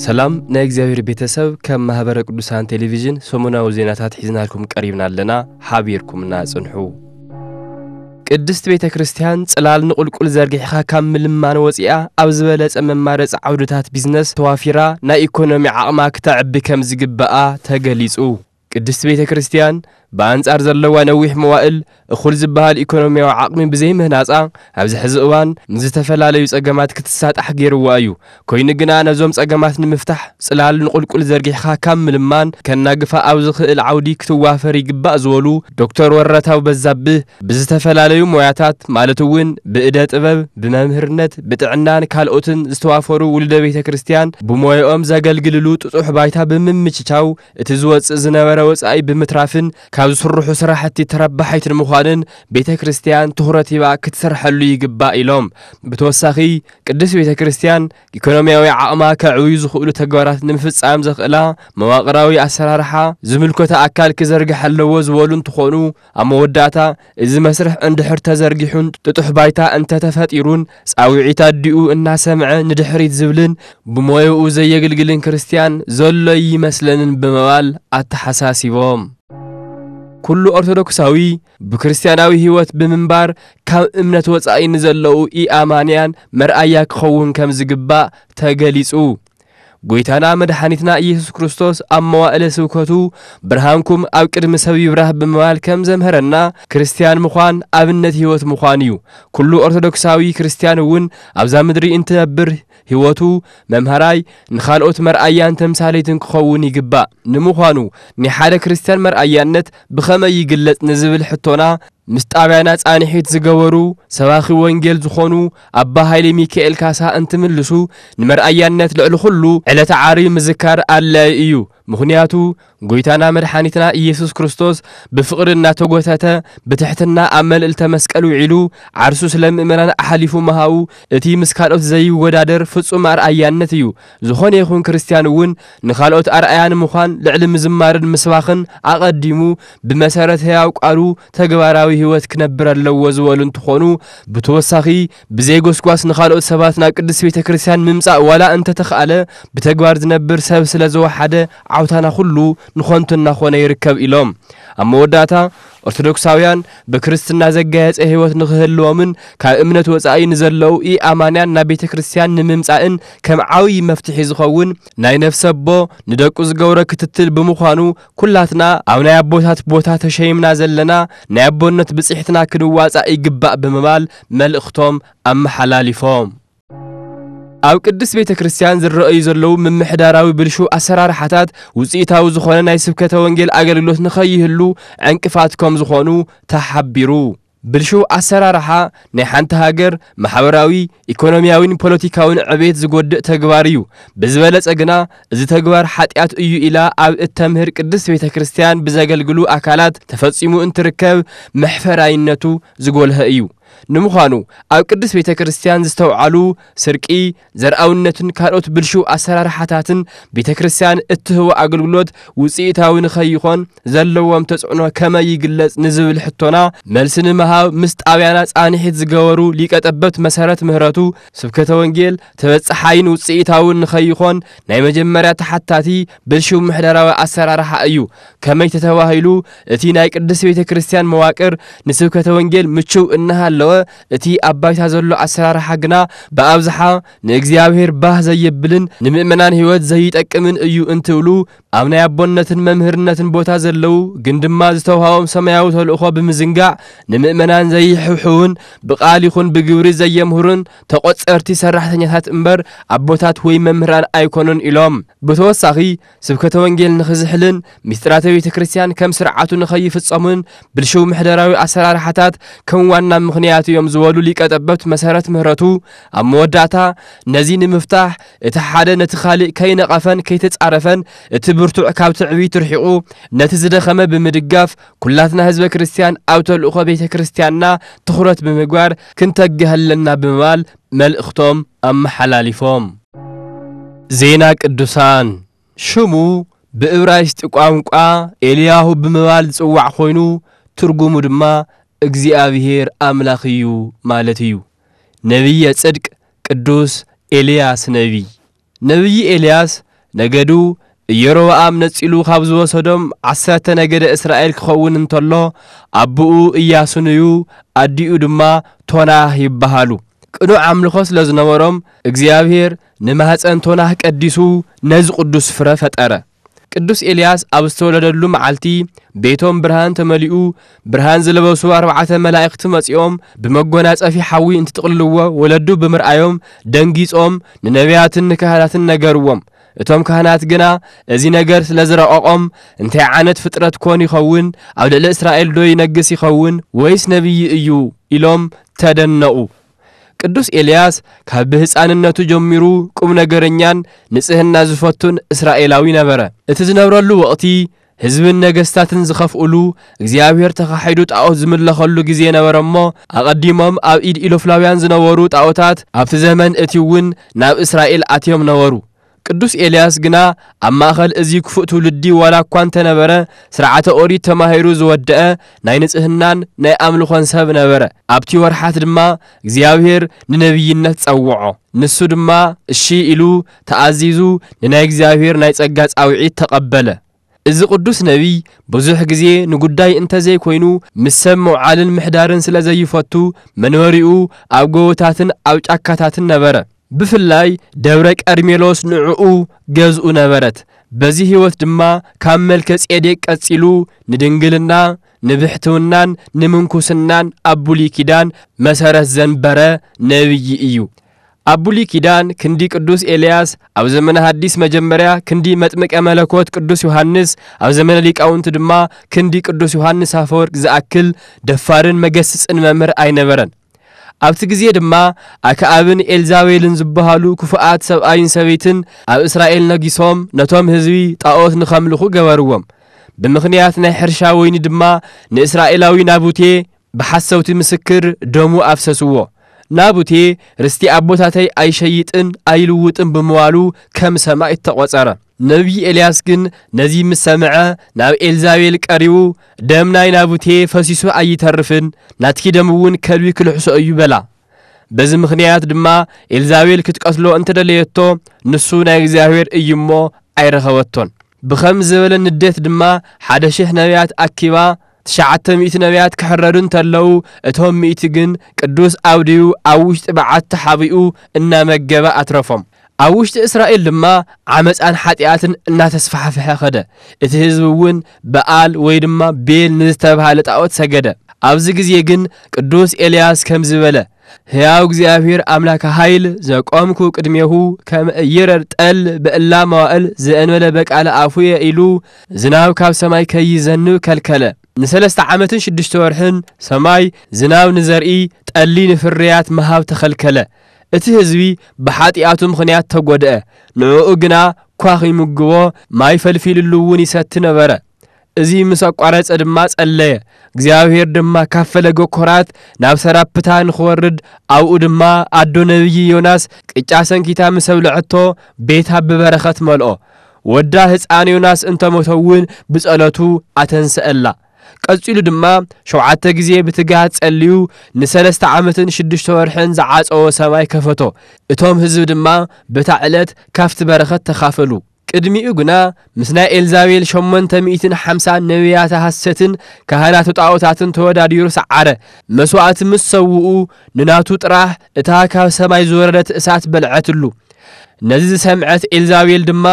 ሰላም ናይ እግዚኣብሔር ቤተሰብ፣ ከም ማህበረ ቅዱሳን ቴሌቪዥን ሰሙናዊ ዜናታት ሒዝናልኩም ቀሪብና ኣለና። ሓቢርኩምና ጽንሑ። ቅድስት ቤተ ክርስቲያን ጽላል ንቑልቁል ዘርጊሕኻ ካብ ምልማን ወጺኣ ኣብ ዝበለጸ መማረጺ ዓውድታት ቢዝነስ ተዋፊራ ናይ ኢኮኖሚ ዓቕማ ክተዕቢ ከም ዝግብኣ ተገሊጹ። ቅድስት ቤተ ክርስቲያን ብኣንጻር ዘለዋ ነዊሕ መዋእል እኹል ዝበሃል ኢኮኖሚያዊ ዓቕሚ ብዘይምህናጻ ኣብዚ ሕዚ እዋን ንዝተፈላለዩ ጸገማት ክትሳጣሕ ገይርዋ እዩ። ኮይኑ ግና ነዞም ጸገማት ንምፍታሕ ጽላል ንቑልቁል ዘርጊሕኻ ካብ ምልማን ከናግፋ ኣብ ዝኽእል ዓውዲ ክትዋፈር ይግባእ ዝበሉ ዶክተር ወረታው በዛብህ ብዝተፈላለዩ ሞያታት ማለት እውን ብእደ ጥበብ፣ ብመምህርነት፣ ብጥዕናን ካልኦትን ዝተዋፈሩ ውሉደ ቤተ ክርስቲያን ብሞያኦም ዘገልግልሉ ጥጡሕ ባይታ ብምምችቻው እቲ ዝወጽእ ዝነበረ ወጻኢ ብምትራፍን ካብ ዝስርሑ ስራሕቲ ተረባሒት ንምዃንን ቤተ ክርስቲያን ትኹረት ሂባ ክትሰርሐሉ ይግባእ ኢሎም። ብተወሳኺ ቅድስት ቤተ ክርስቲያን ኢኮኖሚያዊ ዓቕማ ከዕብዩ ዝኽእሉ ተግባራት ንምፍጻም ዘኽእላ መዋቕራዊ ኣሰራርሓ ዝምልከቶ ኣካል ክዘርግሕ ኣለዎ ዝበሉ እንትኾኑ፣ ኣብ መወዳእታ እዚ መስርሕ እንድሕር ተዘርጊሑን ጥጡሕ ባይታ እንተተፈጢሩን ጻውዒት ኣዲኡ እናሰምዐ ንድሕሪት ዝብልን ብሞያኡ ዘየግልግልን ክርስቲያን ዘሎ ይመስለንን ብምባል ኣተሓሳሲቦም። ኩሉ ኦርቶዶክሳዊ ብክርስቲያናዊ ህይወት ብምንባር ካብ እምነት ወጻኢ ንዘለዉ ኢኣማንያን መርኣያ ክኸውን ከም ዝግባእ ተገሊጹ። ጎይታና መድሓኒትና ኢየሱስ ክርስቶስ ኣብ መዋእለ ስብከቱ ብርሃንኩም ኣብ ቅድሚ ሰብ ይብራህ ብምባል ከም ዘምሀረና ክርስቲያን ምዃን ኣብነት ህይወት ምዃን እዩ። ኩሉ ኦርቶዶክሳዊ ክርስቲያን እውን ኣብዛ ምድሪ እንትነብር ህይወቱ መምሃራይ ንኻልኦት መርኣያን ተምሳሌትን ክኸውን ይግባእ። ንምዃኑ ናይ ሓደ ክርስቲያን መርኣያነት ብኸመይ ይግለጽ ንዝብል ሕቶና ምስ ጣብያና ጻንሒት ዝገበሩ ሰባኺ ወንጌል ዝኾኑ ኣባ ሃይለ ሚካኤል ካሳ እንትምልሱ፣ ንመርኣያነት ልዕሊ ኩሉ ዕለተ ዓርቢ ምዝካር ኣድላዪ እዩ። ምኽንያቱ ጎይታና መድሓኒትና ኢየሱስ ክርስቶስ ብፍቕሪ እናተጎተተ ብትሕትና ኣብ መልዕልተ መስቀል ውዒሉ ዓርሱ ስለ ምእመናን ኣሕሊፉ ምሃቡ እቲ ምስ ካልኦት ዘይወዳደር ፍጹም ኣርኣያነት እዩ። ዝኾነ ይኹን ክርስቲያን እውን ንኻልኦት ኣርኣያ ንምዃን ልዕሊ ምዝማርን ምስባኽን ኣቐዲሙ ብመሰረት ህያው ቃሉ ተግባራዊ ህይወት ክነብር ኣለዎ ዝበሉ እንትኾኑ፣ ብተወሳኺ ብዘይ ጎስጓስ ንኻልኦት ሰባት ናብ ቅድስት ቤተ ክርስቲያን ምምጻእ ዋላ እንተተኽኣለ ብተግባር ዝነብር ሰብ ስለ ዝወሓደ ዓውታና ኩሉ ንኾንቱ እናኾነ ይርከብ ኢሎም። ኣብ መወዳእታ ኦርቶዶክሳውያን ብክርስትና ዘጋየጸ ህይወት ንኽህልዎምን ካብ እምነት ወጻኢ ንዘለዉ ኢኣማንያን ናብ ቤተ ክርስቲያን ንምምጻእን ከም ዓብዪ መፍትሒ ዝኸውን ናይ ነፍሰ ኣቦ ንደቁ ዝገብሮ ክትትል ብምዃኑ ኩላትና ኣብ ናይ ኣቦታት ቦታ ተሸይምና ዘለና ናይ ኣቦነት ብጽሕትና ክንዋጻእ ይግባእ ብምባል መልእኽቶም ኣመሓላሊፎም። ኣብ ቅድስት ቤተ ክርስቲያን ዝረኣዩ ዘለዉ ምምሕዳራዊ ብልሹ ኣሰራርሓታት ውጽኢታዊ ዝኾነ ናይ ስብከተ ወንጌል ኣገልግሎት ንኸይህሉ ዕንቅፋት ከም ዝኾኑ ተሓቢሩ። ብልሹ ኣሰራርሓ ናይ ሓንቲ ሃገር ማሕበራዊ፣ ኢኮኖሚያዊን ፖለቲካዊን ዕቤት ዝጎድእ ተግባር እዩ። ብዝበለጸ ግና እዚ ተግባር ሓጢኣት እዩ ኢላ ኣብ እተምህር ቅድስት ቤተ ክርስቲያን ብዘገልግሉ ኣካላት ተፈጺሙ እንትርከብ መሕፈራይነቱ ዝጎልሀ እዩ። ንምዃኑ ኣብ ቅድስት ቤተ ክርስቲያን ዝተውዓሉ ስርቂ፣ ዘርኣውነትን ካልኦት ብልሹ ኣሰራርሓታትን ቤተ ክርስቲያን እትህቦ ኣገልግሎት ውጽኢታዊ ንኸይኾን ዘለዎም ተጽዕኖ ከመይ ይግለጽ ንዝብል ሕቶና መልሲ ንምሃብ ምስ ጣብያና ጻንሒት ዝገበሩ ሊቀ ጠበብት መሰረት ምህረቱ፣ ስብከተ ወንጌል ተበጻሓይን ውጽኢታውን ንኸይኾን ናይ መጀመርያ ተሓታቲ ብልሹ ምሕደራዊ ኣሰራርሓ እዩ። ከመይ ተተባሂሉ እቲ ናይ ቅድስት ቤተ ክርስቲያን መዋቅር ንስብከተ ወንጌል ምቹው እናሃለወ እቲ ኣብ ባይታ ዘሎ ኣሰራርሓ ግና ብኣብዝሓ ንእግዚኣብሔር ባህ ዘየብልን ንምእመናን ህይወት ዘይጠቅምን እዩ እንትብሉ፣ ኣብ ናይ ኣቦነትን መምህርነትን ቦታ ዘለዉ ግን ድማ ዝተውሃቦም ሰማያዊ ተልእኾ ብምዝንጋዕ ንምእመናን ዘይሕውሕውን ብቃል ይኹን ብግብሪ ዘየምህሩን ተቖጸርቲ ሰራሕተኛታት እምበር ኣቦታት ወይ መምህራን ኣይኮኑን ኢሎም። ብተወሳኺ ስብከተ ወንጌል ንኽዝሕልን ምስጢራተ ቤተ ክርስቲያን ከም ስርዓቱ ንኸይፍጸሙን ብልሽው ምሕደራዊ ኣሰራርሓታት ከም ዋና ምኽንያት እዮም ዝበሉ ሊቀ ጠበብት መሰረት ምህረቱ ኣብ መወዳእታ ነዚ ንምፍታሕ እቲ ሓደ ነቲ ካልእ ከይነቐፈን ከይተጻረፈን እቲ ብርቱዕ ካብ ትዕቢት ርሒቑ ነቲ ዝደኸመ ብምድጋፍ ኩላትና ህዝበ ክርስቲያን ኣብ ተልእኾ ቤተ ክርስቲያንና ትኹረት ብምግባር ክንተግህ ኣለና ብምባል መልእኽቶም ኣመሓላሊፎም። ዜና ቅዱሳን። ሽሙ ብእብራይስጢ ቋንቋ ኤልያሁ ብምባል ዝጽዋዕ ኮይኑ ትርጉሙ ድማ እግዚኣብሔር ኣምላኽ እዩ ማለት እዩ። ነቢየ ጽድቅ ቅዱስ ኤልያስ ነቢይ። ነቢይ ኤልያስ ነገዱ ኢዮሮብኣም ነጺሉ ካብ ዝወሰዶም ዓሰርተ ነገደ እስራኤል ክኸውን እንተሎ፣ ኣቦኡ ኢያሱን እዩ፣ ኣዲኡ ድማ ቶናህ ይበሃሉ። ቅኑዕ ኣምልኾ ስለ ዝነበሮም፣ እግዚኣብሔር ንማህፀን ቶናህ ቀዲሱ ነዚ ቅዱስ ፍረ ፈጠረ። ቅዱስ ኤልያስ ኣብ ዝተወለደሉ መዓልቲ ቤቶም ብርሃን ተመሊኡ፣ ብርሃን ዝለበሱ ኣርባዕተ መላእኽቲ መጺኦም ብመጎናጸፊ ሓዊ እንትጥቕልልዎ ወለዱ ብምርኣዮም ደንጊጾም ንነቢያትን ንካህናትን ነገርዎም። እቶም ካህናት ግና እዚ ነገር ስለ ዝረቐቖም፣ እንታይ ዓይነት ፍጥረት ኮን ይኸውን? ኣብ ልዕሊ እስራኤል ዶ ይነግስ ይኸውን? ወይስ ነቢይ እዩ? ኢሎም ተደነቑ። ቅዱስ ኤልያስ ካብ ብህፃንነቱ ጀሚሩ ቁም ነገረኛን ንጽህና ዝፈቱን እስራኤላዊ ነበረ። እቲ ዝነብረሉ ወቕቲ ህዝብን ነገስታትን ዝኸፍኡሉ፣ እግዚኣብሔር ተኻሒዱ ጣዖት ዝምለኸሉ ግዜ ነበረ እሞ፣ ኣቐዲሞም ኣብ ኢድ ኢሎፍላውያን ዝነበሩ ጣዖታት ኣብቲ ዘመን እቲ እውን ናብ እስራኤል ኣትዮም ነበሩ። ቅዱስ ኤልያስ ግና ኣብ ማእኸል እዚ ክፉእ ትውልዲ ዋላ እኳ እንተነበረ፣ ስርዓተ ኦሪት ተማሂሩ ዝወደአ ናይ ንጽህናን ናይ ኣምልኾን ሰብ ነበረ። ኣብቲ ወርሓት ድማ እግዚኣብሔር ንነቢይነት ጸውዖ። ንሱ ድማ እሺ ኢሉ ተኣዚዙ ንናይ እግዚኣብሔር ናይ ጸጋ ጻውዒት ተቐበለ። እዚ ቅዱስ ነቢይ ብዙሕ ግዜ ንጉዳይ እንተዘይኮይኑ ምስ ሰብ ምውዓልን ምሕዳርን ስለ ዘይፈቱ መንበሪኡ ኣብ ጎቦታትን ኣብ ጫካታትን ነበረ። ብፍላይ ደብረ ቀርሜሎስ ንዕኡ ገዝኡ ነበረት። በዚ ህይወት ድማ ካብ መልከ ጼዴቅ ቀጺሉ ንድንግልና፣ ንብሕትውናን ንምንኩስናን ኣብ ብሉይ ኪዳን መሰረት ዘንበረ ነቢይ እዩ። ኣብ ብሉይ ኪዳን ክንዲ ቅዱስ ኤልያስ፣ ኣብ ዘመነ ሐዲስ መጀመርያ ክንዲ መጥምቀ መለኮት ቅዱስ ዮሐንስ፣ ኣብ ዘመነ ሊቃውንቲ ድማ ክንዲ ቅዱስ ዮሐንስ ኣፈወርቅ ዝኣክል ደፋርን መገስጽን መምህር ኣይነበረን። ኣብቲ ግዜ ድማ ኣክኣብን ኤልዛቤልን ዝበሃሉ ክፉኣት ሰብኣይን ሰበይትን ኣብ እስራኤል ነጊሶም ነቶም ህዝቢ ጣዖት ንኸምልኹ ገበርዎም። ብምኽንያት ናይ ሕርሻ ወይኒ ድማ ንእስራኤላዊ ናቡቴ ብሓሰውቲ ምስክር ደሙ ኣፍሰስዎ። ናቡቴ ርስቲ ኣቦታተይ ኣይሸይጥን ኣይልውጥን ብምባሉ ከም ሰማይ ተቖጸረ። ነቢይ ኤልያስ ግን ነዚ ምስ ሰምዐ ናብ ኤልዛቤል ቀሪቡ፣ ደም ናይ ናቡቴ ፈሲሱ ኣይተርፍን፣ ናትኪ ደም እውን ከልቢ ክልሕሶ እዩ በላ። በዚ ምኽንያት ድማ ኤልዛቤል ክትቀትሎ እንተደለየቶ፣ ንሱ ናይ እግዚኣብሔር እዩ እሞ ኣይረኸበቶን። ብኸም ዝበለ ንዴት ድማ ሓደ ሽሕ ነቢያት ኣኪባ፣ ትሽዓተ ሚእቲ ነቢያት ክሕረዱ እንተለዉ፣ እቶም ሚእቲ ግን ቅዱስ ኣብድዩ ኣብ ውሽጢ በዓት ተሓቢኡ እናመገበ ኣትረፎም። ኣብ ውሽጢ እስራኤል ድማ ዓመፃን ሓጢኣትን እናተስፋሕፍሐ ኸደ። እቲ ህዝቢ እውን በኣል ወይ ድማ ቤል ንዝተባህለ ጣዖት ሰገደ። ኣብዚ ግዜ ግን ቅዱስ ኤልያስ ከምዚ በለ፣ ሕያው እግዚኣብሔር ኣምላከ ኃይል ዘቆምኩ ቅድሜሁ ከመ ኢይረድ ጠል በእላ መዋእል ዘእንበለ በቃለ ኣፉየ ኢሉ ዝናብ ካብ ሰማይ ከይዘንብ ከልከለ። ንሰለስተ ዓመትን ሽዱሽተ ወርሕን ሰማይ ዝናብ ንዘርኢ ጠሊ ንፍርያት ምሃብ ተኸልከለ። እቲ ህዝቢ ብሓጢኣቱ ምኽንያት ተጎድአ። ንዕኡ ግና ኳኽ ይምግቦ፣ ማይ ፈልፊልሉ እውን ይሰቲ ነበረ። እዚ ምስ ኣቋረጸ ድማ ጸለየ። እግዚኣብሔር ድማ ካብ ፈለገ ኮራት ናብ ሰራፕታ ንኽወርድ፣ ኣብኡ ድማ ኣዶ ነቢይ ዮናስ ቅጫ ሰንኪታ ምስ ኣብልዐቶ ቤታ ብበረኸት መልኦ። ወዳ ህፃን ዮናስ እንተሞተ እውን ብጸሎቱ ኣተንሰአላ። ቀጺሉ ድማ ሸውዓተ ግዜ ብትግሃት ጸልዩ ንሰለስተ ዓመትን ሽዱሽተ ወርሕን ዝዓጸዎ ሰማይ ከፈቶ። እቶም ህዝቢ ድማ በታ ዕለት ካብቲ በረኸት ተኻፈሉ። ቅድሚኡ ግና ምስ ናይ ኤልዛቤል ሸሞንተ ሚእትን ሓምሳን ነቢያተ ሐሰትን ካህናት ጣዖታትን ተወዳዲሩ ሰዓረ። መስዋእቲ ምስ ሰውኡ ንናቱ ጥራሕ እታ ካብ ሰማይ ዝወረደት እሳት በልዐትሉ። ነዚ ዝሰምዐት ኤልዛቤል ድማ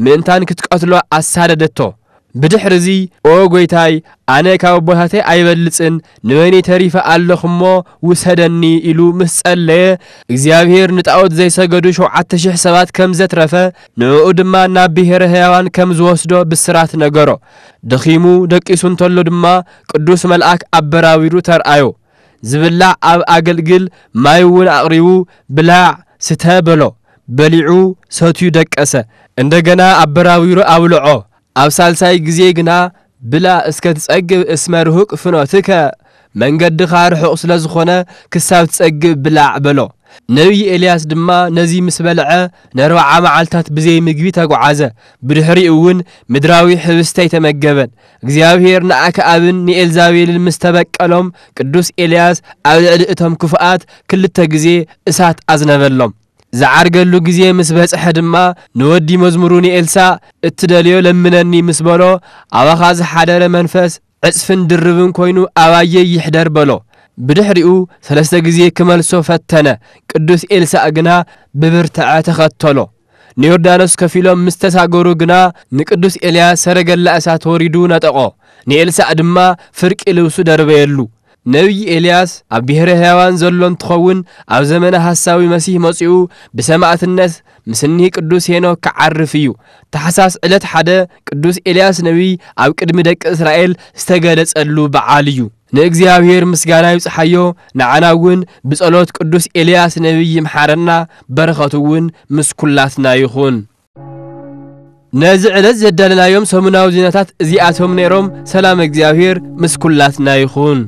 ምእንታን ክትቀትሎ ኣሳደደቶ። ብድሕርዚ "ኦ ጐይታይ፣ ኣነ ካብ ኣቦታተይ ኣይበልጽን፣ ንበይነይ ተሪፈ ኣለኹ እሞ ውሰደኒ" ኢሉ ምስ ጸለየ፣ እግዚኣብሔር ንጣዖት ዘይሰገዱ ሸውዓተ ሽሕ ሰባት ከም ዘትረፈ፣ ንዕኡ ድማ ናብ ብሔረ ሕያዋን ከም ዝወስዶ ብስራት ነገሮ። ደኺሙ ደቂሱ እንተሎ ድማ ቅዱስ መልኣክ ኣበራቢሩ ተርኣዮ። ዝብላዕ ኣብ ኣገልግል ማይ እውን ኣቕሪቡ "ብላዕ፣ ስተ" በሎ። በሊዑ ሰትዩ ደቀሰ። እንደገና ኣበራቢሩ ኣብልዖ። ኣብ ሳልሳይ ግዜ ግና "ብላ እስከ ትጸግብ እስመ ርሁቅ ፍኖትከ፣ መንገድኻ ርሑቕ ስለ ዝኾነ ክሳብ ትጸግብ ብላዕ" በሎ። ነቢይ ኤልያስ ድማ ነዚ ምስ በልዐ ንኣርብዓ መዓልታት ብዘይ ምግቢ ተጓዓዘ። ብድሕሪኡ እውን ምድራዊ ሕብስቲ ኣይተመገበን። እግዚኣብሔር ንኣክኣብን ንኤልዛቤልን ምስ ተበቀሎም፣ ቅዱስ ኤልያስ ኣብ ልዕሊ እቶም ክፉኣት ክልተ ግዜ እሳት ኣዝነበሎም። ዝዓርገሉ ግዜ ምስ በጽሐ ድማ፣ ንወዲ መዝሙሩ ንኤልሳእ፣ "እትደልዮ ለምነኒ" ምስ በሎ፣ ኣባኻ ዝሓደረ መንፈስ ዕጽፍን ድርብን ኮይኑ ኣባየይ ይሕደር በሎ። ብድሕሪኡ ሰለስተ ግዜ ክመልሶ ፈተነ፣ ቅዱስ ኤልሳእ ግና ብብርትዐ ተኸተሎ። ንዮርዳኖስ ከፊሎም ምስ ተሳገሩ ግና፣ ንቅዱስ ኤልያስ ሰረገላ እሳት ወሪዱ ነጠቖ፣ ንኤልሳእ ድማ ፍርቂ ልብሱ ደርበየሉ። ነቢይ ኤልያስ ኣብ ብሔረ ሕያዋን ዘሎ እንትኸውን፣ ኣብ ዘመነ ሐሳዊ መሲህ መጺኡ ብሰማዕትነት ምስ እኒህ ቅዱስ ሄኖክ ክዓርፍ እዩ። ታሕሳስ ዕለት ሓደ ቅዱስ ኤልያስ ነቢይ ኣብ ቅድሚ ደቂ እስራኤል ዝተገለጸሉ በዓል እዩ። ንእግዚኣብሔር ምስጋና ይብጽሓዮ፣ ንዓና እውን ብጸሎት ቅዱስ ኤልያስ ነቢይ ይምሓረና፣ በረኸቱ እውን ምስ ኩላትና ይኹን። ነዚ ዕለት ዘዳለናዮም ሰሙናዊ ዜናታት እዚኣቶም ነይሮም። ሰላም እግዚኣብሔር ምስ ኩላትና ይኹን።